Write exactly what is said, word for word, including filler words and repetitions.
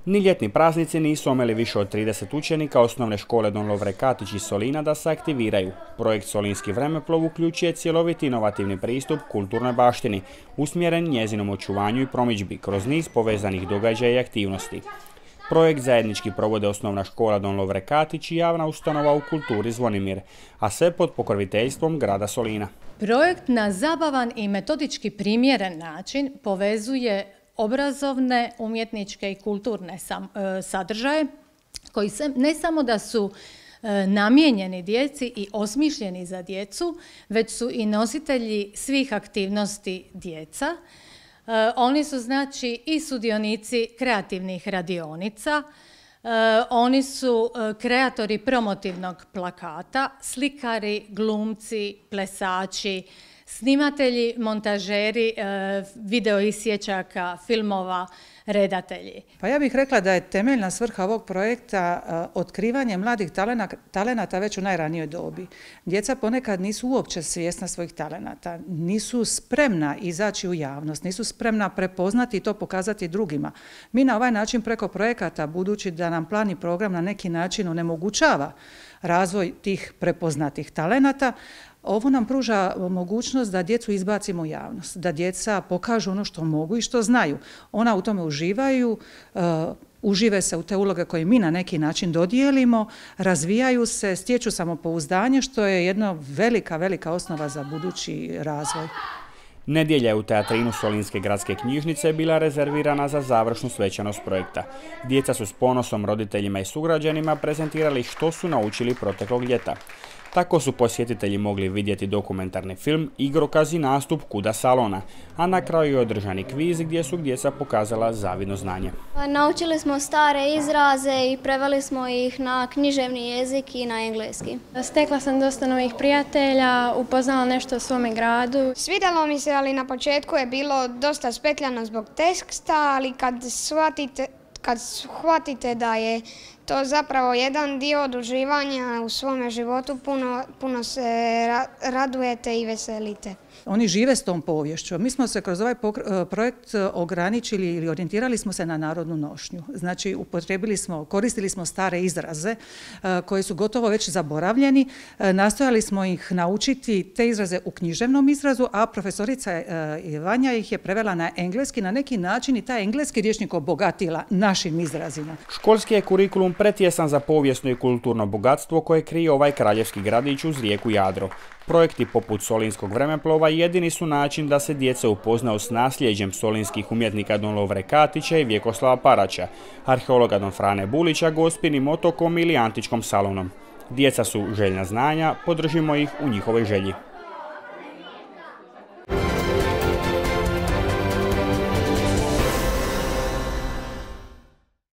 Ni ljetni praznici nisu omeli više od trideset učenika osnovne škole Don Lovre Katić iz Solina da se aktiviraju. Projekt Solinski vremeplov uključuje cjeloviti inovativni pristup kulturnoj baštini, usmjeren njezinom očuvanju i promidžbi kroz niz povezanih događaja i aktivnosti. Projekt zajednički provode osnovna škola Don Lovre Katić i javna ustanova u kulturi Zvonimir, a sve pod pokroviteljstvom grada Solina. Projekt na zabavan i metodički primjeren način povezuje obrazovne, umjetničke i kulturne sadržaje koji se, ne samo da su namijenjeni djeci i osmišljeni za djecu, već su i nositelji svih aktivnosti djeca. Oni su znači i sudionici kreativnih radionica, oni su kreatori promotivnog plakata, slikari, glumci, plesači, snimatelji, montažeri, video isječaka, filmova, redatelji. Pa ja bih rekla da je temeljna svrha ovog projekta otkrivanje mladih talenata već u najranijoj dobi. Djeca ponekad nisu uopće svjesna svojih talenata, nisu spremna izaći u javnost, nisu spremna prepoznati i to pokazati drugima. Mi na ovaj način preko projekata, budući da nam plan i program na neki način onemogućava razvoj tih prepoznatih talenata, ovo nam pruža mogućnost da djecu izbacimo u javnost, da djeca pokažu ono što mogu i što znaju. Ona u tome uživaju, uh, užive se u te uloge koje mi na neki način dodijelimo, razvijaju se, stječu samopouzdanje, što je jedna velika, velika osnova za budući razvoj. Nedjelja je u teatrinu Solinske gradske knjižnice bila rezervirana za završnu svečanost projekta. Djeca su s ponosom roditeljima i sugrađanima prezentirali što su naučili proteklog ljeta. Tako su posjetitelji mogli vidjeti dokumentarni film, igrokaz i nastup Kuda salona, a na kraju je održani kviz gdje su djeca pokazala zavidno znanje. Naučili smo stare izraze i preveli smo ih na književni jezik i na engleski. Stekla sam dosta novih prijatelja, upoznala nešto o svome gradu. Svidjelo mi se, ali na početku je bilo dosta spetljano zbog teksta, ali kad shvatite, kad shvatite da je to zapravo jedan dio oduživanja u svome životu, puno, puno se ra radujete i veselite. Oni žive s tom poviješću. Mi smo se kroz ovaj projekt ograničili ili orijentirali smo se na narodnu nošnju. Znači, upotrijebili smo, koristili smo stare izraze koji su gotovo već zaboravljeni. Nastojali smo ih naučiti te izraze u književnom izrazu, a profesorica Vanja ih je prevela na engleski, na neki način i taj engleski rječnik obogatila našim izrazima. Školski je kurikulum pretjesan za povijesno i kulturno bogatstvo koje krije ovaj kraljevski gradić uz rijeku Jadro. Projekti poput Solinskog vremeplova jedini su način da se djeca upoznaju s nasljeđem solinskih umjetnika Don Lovre Katića i Vjekoslava Paraća, arheologa Don Frane Bulića, Gospinim otokom ili Antičkom salonom. Djeca su željna znanja, podržimo ih u njihovoj želji.